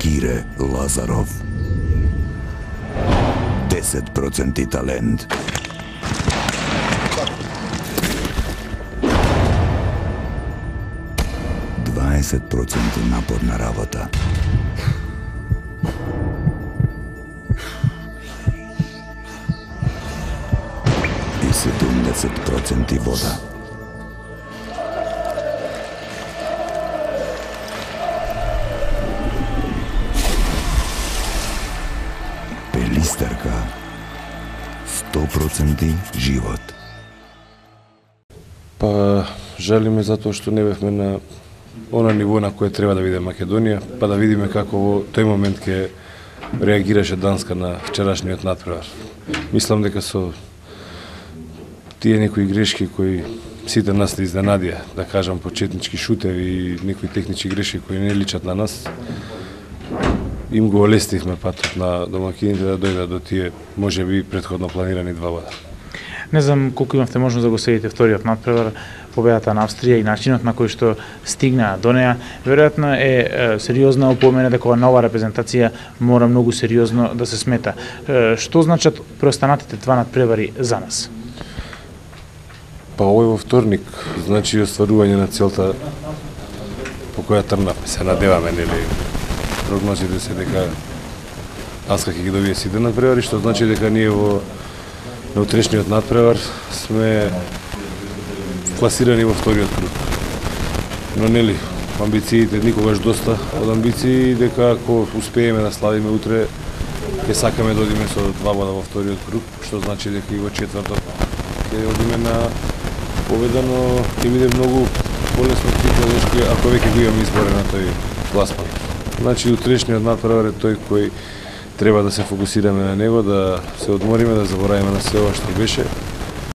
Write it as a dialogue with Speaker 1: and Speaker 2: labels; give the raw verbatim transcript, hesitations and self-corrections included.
Speaker 1: Кире Лазаров. десет проценти талент. дваесет проценти напорна работа. И седумдесет проценти вода. Пелистерка. сто проценти живот.
Speaker 2: Па, жалиме затоа што не бевме на она ниво на кое треба да биде Македонија, па да видиме како во тој момент ќе реагираше Данска на вчерашниот натпревар. Мислам дека со тие некои грешки кои сите нас не изненадија, да кажам почетнички шутеви и некои технички грешки кои не личат на нас, им го олестивме патот на домакините да дојдат до тие можеби претходно планирани два бода.
Speaker 3: Не знам колку имавте можност да го следите вториот натпревар, победата на Австрија и начинот на кој што стигна до неа, веројатно е сериозна опомена дека на ова репрезентација мора многу сериозно да се смета. Што значат преостанатите два натпревари за нас?
Speaker 2: Па овој во вторник значи остварување на целта по која трнавме, се надеваме, нели? Прогнозите се дека Данска ќе ги добие сите натпревари, што значи дека ние во на утрешниот натпревар сме класирани во вториот круг. Но нели, амбициите никогаш доста од амбиции, дека ако успееме да славиме утре, ќе сакаме да одиме со два бода во вториот круг, што значи дека и во четвртот ќе одиме на победа, но ќе биде многу полесно психолошки ако веќе го имаме изборен на тој класман. Значи утрешниот натпревар е тој кој треба да се фокусираме на него, да се одмориме, да заборавиме на се ова што беше